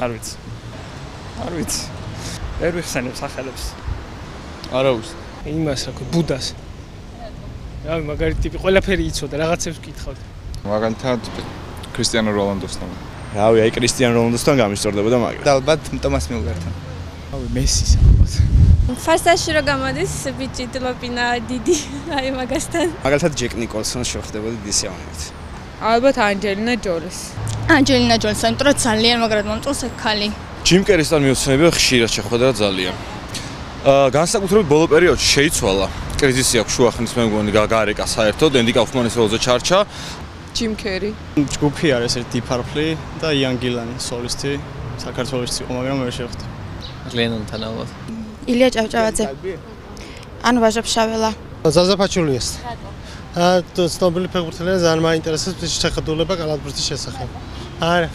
არ ვიცი. არ ვიცი. ვერ ვიხსენებ სახელებს. არა უს. იმას რა ქვია, ბუდას. რავი, მაგარი ტიპი, ყველაფერი იცოდა, რაღაცებს ვკითხავდა. მაგალითად კრისტიანო როლანდოსთან. რავი, აი კრისტიანო როლანდოსთან გამისწორდებოდა მაგრამ. ალბათ ტომას მიულერთან. რავი, მესის ალბათ. ფასტაში რო გამოდის ბიჭი დლოპინა დიდი აი მაგასთან. მაგალითად ჯეკ ნიკოლსონს შეხვდებოდი დისეონით. ალბათ ანჯელინა ჯოლის. ანჯელინა ჯოლის, იმიტომ რომ ძალიან მაგრად მომწონს ეს ქალი. ჯიმ კერისთან მიუცნები ხშირად შეხვდა ძალიან. განსაკუთრებით ბოლო პერიოდში შეიცვალა. კრიზისი აქვს შუახნის მე მგონი გაგარეკა საერთოდ ენდი კაუფმანის როლზე ჩარჩა. ჯიმ კერი. ჯგუფი არის ერთ დიფარფლი და იან გილანი სოლისტი საქართველოში იყო, მაგრამ ვერ შეხვდა. ლენონთან ალბათ. ილია ჭავჭავაძე. ანუ ვაჟა-ფშაველა. ზაზაფაჩულიას. ცნობილი ფეხბურთელია, ძალიან მაინტერესებს შეხედულება კალათბურთის შესახებ. არა.